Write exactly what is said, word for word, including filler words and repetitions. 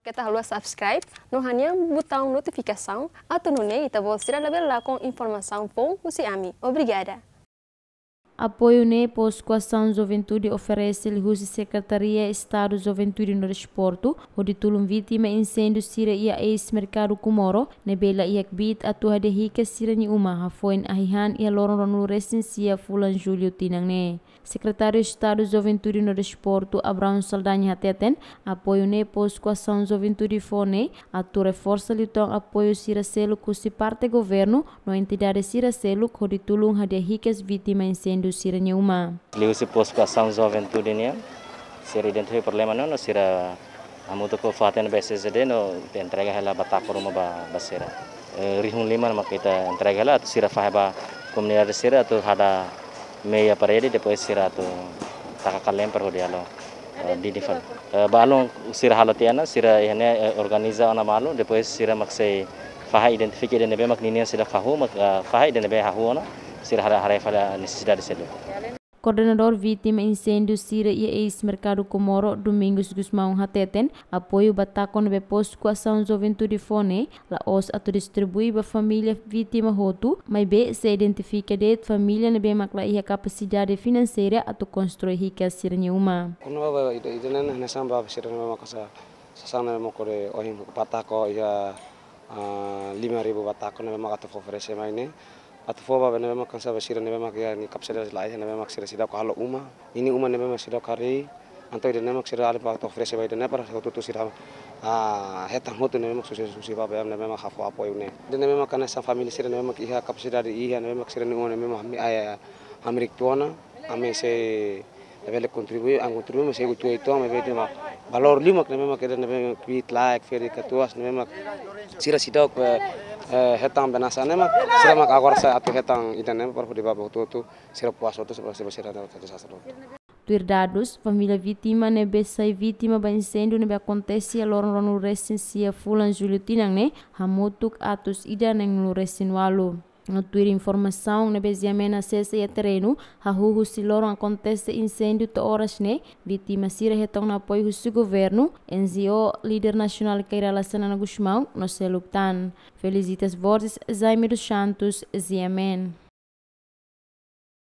Keta haluha subscribe no hanehan butaun notifikasaun atu nune'e ita-boot sira labele lakon informasaun foun husi ami. Obrigada. Apoiu ne'e Postu Asaun Juventude oferese liuhusi Sekretaria Estadu Juventude no Desportu, hodi tulun vítima inséndiu sira iha eis-merkadu Comoro, ne'ebé la iha kbiit atu hadi'a hikas sira-nia uma, hafoin ahi-han iha loron ruanulu-resin-sia fulan Jullu tinan ne'e. Sekretáriu Estadu Juventude no Desportu, Abraão Saldanha hateten, apoiu ne'e Postu Asaun Juventude fó ne'e atu reforsa liután apoiu sira seluk husi parte governu no entidade sira seluk hodi tulun hadi'a hikas vítima inséndiu sira-nia uma. Liuhusi Postu Asaun Juventude nian, sira identifika problema ne'e no sira hamutuk ho fatin B C C D no ita entrega hela batako ruma ba, ba sira. Eh, rihun lima mak ita entrega hela atu sira fahe ba komunidade sira atu hada meia parede, depois sira atu taka kalemper hodi halo, eh, didin fali. Eh, balun sira halo tiha ona, sira iha ne'e, eh, organiza ona malu, depois sira mak sei fahe identifika ida ne'ebé mak ninian seidauk hahú, mak, eh, fahe ida ne'ebé hahú ona, sira haree, haree fali nesesidade seluk. Koordenadór vítima inséndiu sira iha eis-merkadu Comoro, Domingos Gusmão hateten, apoiu batako ne'ebé Postu Asaun Juventude fó ne'e la'ós atu distribui ba família vítima hotu, maibé sei identifika de'it família ne'ebé mak la iha kapasidade finanseira atu konstrui hikas sira-nia uma. Kuandu ba ida, ida ne'e hanesan ba sira ne'ebé mak sa, sasán ne'ebé mak kode ohin batako iha, ah, lima ribu batako ne'ebé mak atu fó oferese mai ne'e. Atu fó ba ne'ebé mak hanesan ba sira ne'ebé mak iha nia kapasidade la iha, ne'ebé mak sira seidauk halo uma. Ninia uma ne'ebé mak seidauk harii. Entaun ida ne'e mak sira alin ba atu oferese ba ida ne'e para hotu-hotu sira, ah, hetan hotu ne'ebé mak susar, susar ba ne'ebé mak hafó apoiu ne'e. Ida ne'ebé mak hanesan família sira ne'ebé mak iha kapasidade iha, ne'ebé mak sira-nia uma ne'ebé mak ami, ah, hamriik tiha ona, ami sei labele kontribui, ami kontribui, maibé sei uitoan, maibé ida mak valór liu mak ne'ebé mak ida ne'ebé mak kbiit laek, ferik katuas, ne'ebé mak sira seidauk, eh, eh, hetan benasa ne'e mak, sira mak agora sai atu hetan ida ne'e para hodi ba hotu-hotu, sira puas hotu, sira, sira, sira, sira, sira. Tuir dadus, família vítima ne'ebé sai vítima ba inséndiu ne'ebé akontese iha loron ruanulu-resin-sia fulan Jullu tinan ne'e, hamutuk atus ida neenulu-resin-ualu. No tuir informasaun ne'ebé GMN asesa iha terrenu, hahú husi loron akontese inséndiu to'o oras ne'e, vítima sira hetan ona apoiu husi governu, N G O, líder nasionál Kay Rala Xanana Gusmão, no seluk tan. Felicitas Borges, Jaime dos Santos, GMN.